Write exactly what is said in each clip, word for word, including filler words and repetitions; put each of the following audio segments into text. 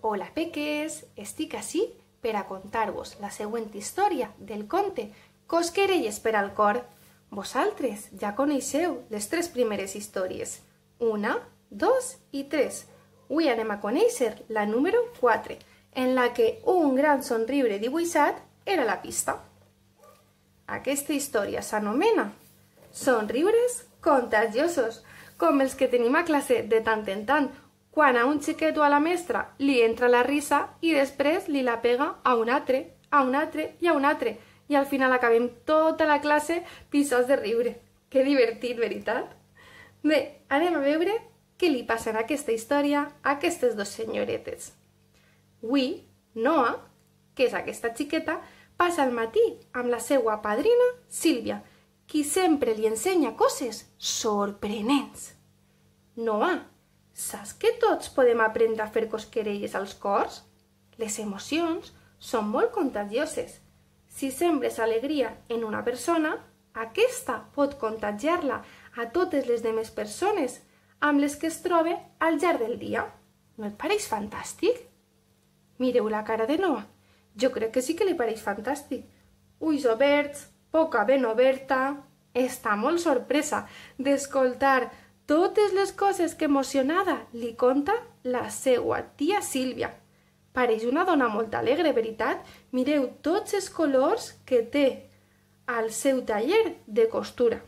Hola peques, estic ací per a contar-vos la següent història del conte Cosquerelles per al cor. Vosaltres ja coneixeu les tres primeres històries, una, dos i tres. Avui anem a conèixer la número quatre, en la que un gran somriure dibuixat era la pista. Aquesta història s'anomena Somriures contagiosos, com els que tenim a classe de tant en tant, quan a un xiquet o a la mestra li entra la risa i després li la pega a un altre, a un altre i a un altre, i al final acabem tota la classe pixats de riure. Que divertit, veritat? Bé, anem a veure què li passa en aquesta història a aquestes dues senyoretes. Avui, Noa, que és aquesta xiqueta, passa el matí amb la seva padrina Sílvia, qui sempre li ensenya coses sorprenents. Noa, saps que tots podem aprendre a fer cosquerelles als cors? Les emocions són molt contagioses. Si sembres alegria en una persona, aquesta pot contagiar-la a totes les demés persones amb les que es troba al llarg del dia. No et pareix fantàstic? Mireu la cara de Noa. Jo crec que sí que li pareix fantàstic. Ulls oberts, boca ben oberta. Està molt sorpresa d'escoltar totes les coses que emocionada li conta la seva tia Sílvia. Pareix una dona molt alegre, veritat? Mireu tots els colors que té al seu taller de costura.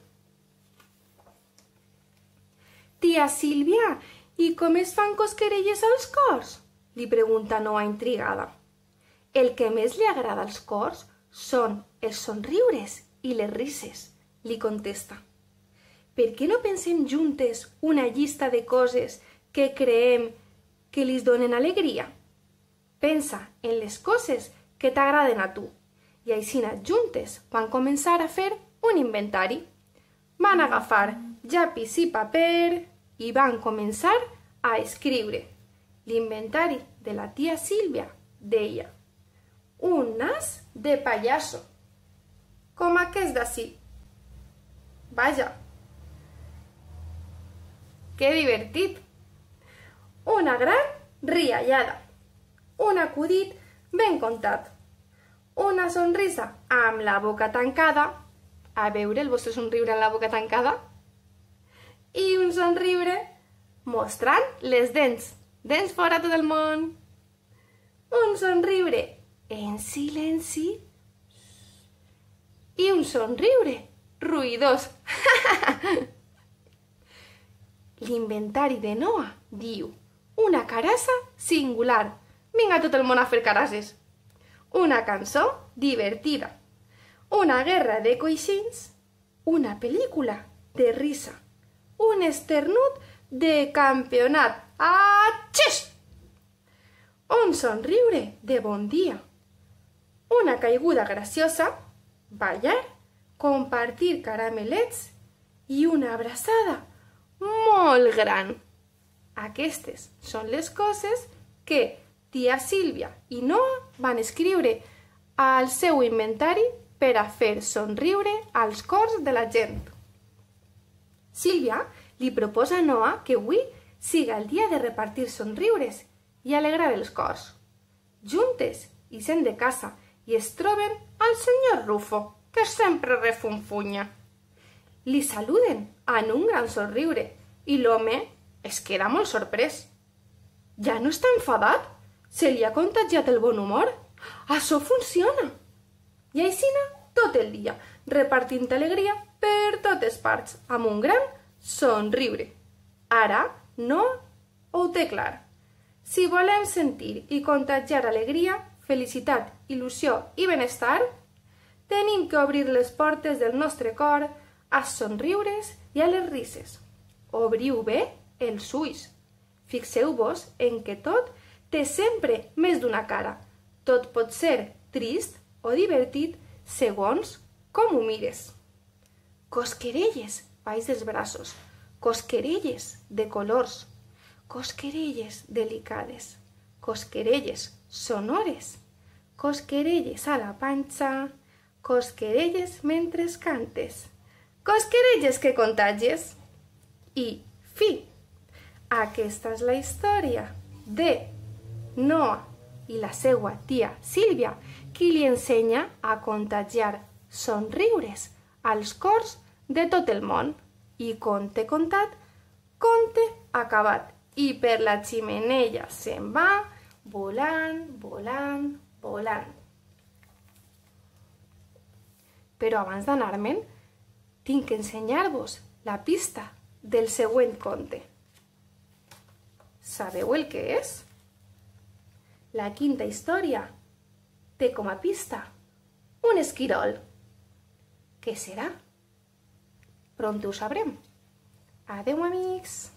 Tia Sílvia, i com es fan cosquerelles als cors? Li pregunta Noa intrigada. El que més li agrada als cors són els somriures i les rises, li contesta. Per què no pensem juntes una llista de coses que creem que li donen alegria? Pensa en les coses que t'agraden a tu i així juntes van començar a fer un inventari. Van agafar llapis i paper i van començar a escriure. L'inventari de la tia Sílvia deia: un nas de pallasso, com aquest d'ací. Vaja! Que divertit! Una gran riallada, un acudit ben contat, una sonrisa amb la boca tancada, a veure el vostre somriure amb la boca tancada, i un somriure mostrant les dents, dents fora tot el món, un somriure en silenci i un somriure ruïdós. L'inventari de Noa diu: una carassa singular. Vinga tot el món a fer carasses. Una cançó divertida. Una guerra de coixins. Una pel·lícula de risa. Un esternut de campionat. Atxix! Un somriure de bon dia. Una caiguda graciosa. Ballar. Compartir caramelets. I una abraçada molt gran. Aquestes són les coses que tia Sílvia i Noa van escriure al seu inventari per a fer somriure als cors de la gent. Sílvia li proposa a Noa que avui siga el dia de repartir somriures i alegrar els cors. Juntes ixen de casa i es troben al senyor Rufo, que sempre refunfunya. Li saluden en un gran somriure i l'home es queda molt sorprès. Ja no està enfadat? Se li ha contagiat el bon humor? Això funciona! I així tot el dia, repartint alegria per totes parts, amb un gran somriure. Ara no ho té clar. Si volem sentir i contagiar alegria, felicitat, il·lusió i benestar, tenim que obrir les portes del nostre cor als somriures i a les rises. Obriu bé els ulls. Fixeu-vos en que tot té sempre més d'una cara. Tot pot ser trist o divertit segons com ho mires. Cosquerelles baix dels braços, cosquerelles de colors, cosquerelles delicades, cosquerelles sonores, cosquerelles a la panxa, cosquerelles mentre cantes, cosquerelles que contagies. I fi! Aquesta és la història de Noa i la seua tia Sílvia, qui li ensenya a contagiar somriures als cors de tot el món. I conte contat, conte acabat. I per la ximeneia se'n va volant, volant, volant. Però abans d'anar-me'n, tinc que ensenyar-vos la pista del següent conte. Sabeu el que és? La quinta història té com a pista un esquirol. Què serà? Pront ho sabrem. Adeu, amics!